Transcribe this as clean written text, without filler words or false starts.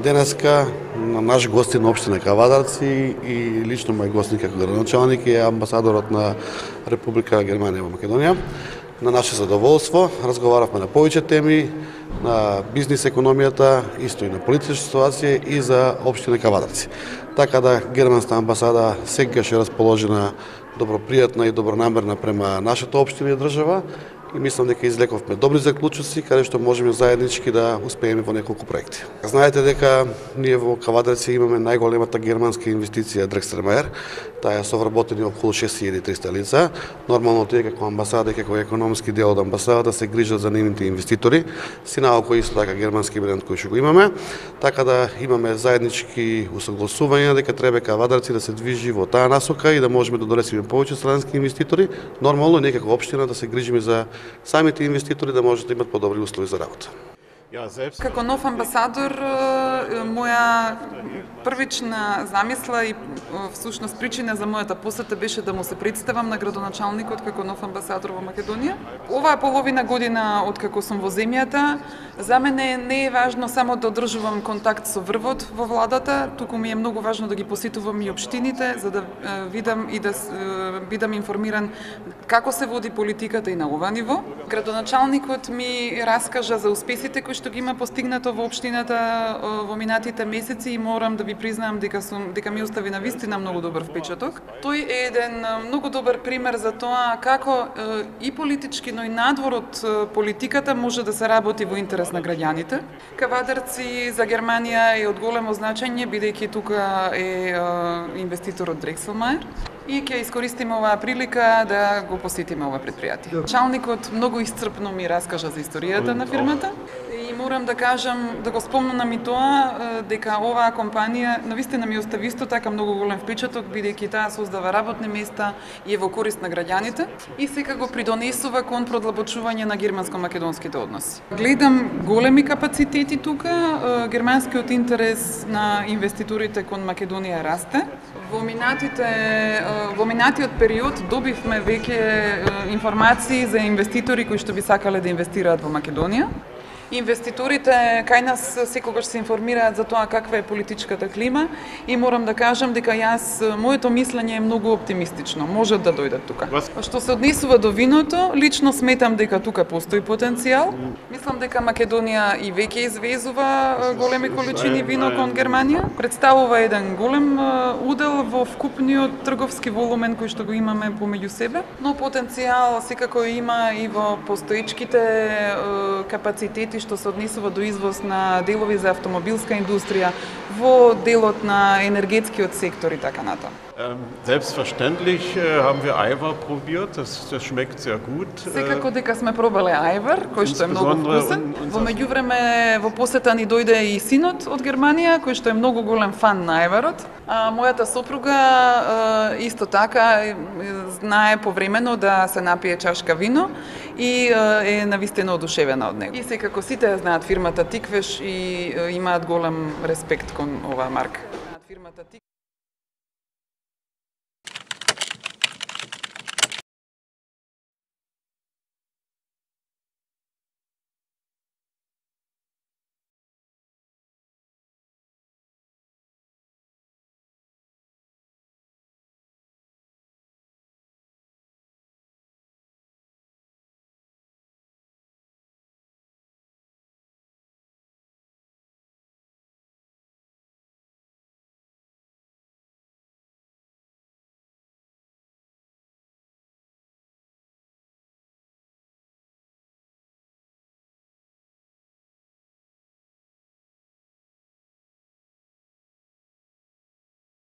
Денеска на наш гостин на општина Кавадарци и лично мој гостин како градоначалник е амбасадорот на Република Германија во Македонија. На наше задоволство разговаравме на повеќе теми, на бизнис економијата, исто и на политичка ситуација и за општина Кавадарци. Така да германската амбасада секогаш е расположена добропријатна и добронамерна према нашата општина и држава и мислам дека излековме добри заклучоци каде што можеме заеднички да успееме во неколку проекти. Знаете дека ние во Кавадарци имаме најголемата германска инвестиција Дрекстермаер. Таа е совработени околу 6300 лица. Нормално тие како амбасада и како економски дел од амбасадата се грижат за нивните инвеститори, синалку исто така германски бренд кој што го имаме. Така да имаме заеднички усогласувања дека треба Кавадарци да се движи во таа насока и да можеме да донесеме повеќе странски инвеститори. Нормално ние како општина да се грижиме за самите инвеститори да можат да имат подобри услови за работа. Како нов амбасадор, моја првична замисла и всушност причина за мојата посета беше да му се представам на градоначалникот како нов амбасадор во Македонија. Оваа половина година откако сум во земјата, за мене не е важно само да одржувам контакт со врвот во владата, туку ми е многу важно да ги посетувам и општините за да видам и да бидам информиран како се води политиката и на ова ниво. Градоначалникот ми раскажа за успесите кои што ги има постигнато во општината во минатите месеци и морам да ви признаам дека ми остави навистина многу добар впечаток. Тој е еден многу добар пример за тоа како и политички, но и надвор од политиката може да се работи во интерес на граѓаните. Кавадарци за Германија е од големо значење бидејќи тука е инвеститорот Дрекстермаер. И ќе искористиме оваа прилика да го посетиме ова предпријатие. Началникот многу исцрпно ми раскажа за историјата на фирмата и морам да кажам, да го спомнам и тоа дека оваа компанија навистина ми остави исто така многу голем впечаток бидејќи таа создава работни места и е во корист на граѓаните и секако придонесува кон продлабочување на германско-македонските односи. Гледам големи капацитети тука, германскиот интерес на инвеститорите кон Македонија расте. Во минатиот период добивме веќе информации за инвеститори кои што би сакале да инвестираат во Македонија. Инвеститорите кај нас секогаш се информираат за тоа каква е политичката клима и морам да кажам дека моето мислење е многу оптимистично. Можат да дојдат тука. Што се однесува до виното, лично сметам дека тука постои потенцијал. Мислам дека Македонија и веќе извезува големи количини вино кон Германија. Представува еден голем удел во вкупниот трговски волумен кој што го имаме помеѓу себе, но потенцијал секако има и во постоечките капацитети што се однесува до извоз на делови за автомобилска индустрија, во делот на енергетскиот сектор и така натаму. Selbstverständlich haben wir Eivar probiert, das schmeckt sehr gut. Секако дека сме пробале ајвар, кој што е многу вкусен. Во меѓувреме во посета ни дојде и синот од Германија, кој што е многу голем фан на ајварот. Мојата сопруга исто така знае повремено да се напие чашка вино и е навистина одушевена од него. И секако сите ја знаат фирмата Тиквеш и имаат голем респект кон оваа марка.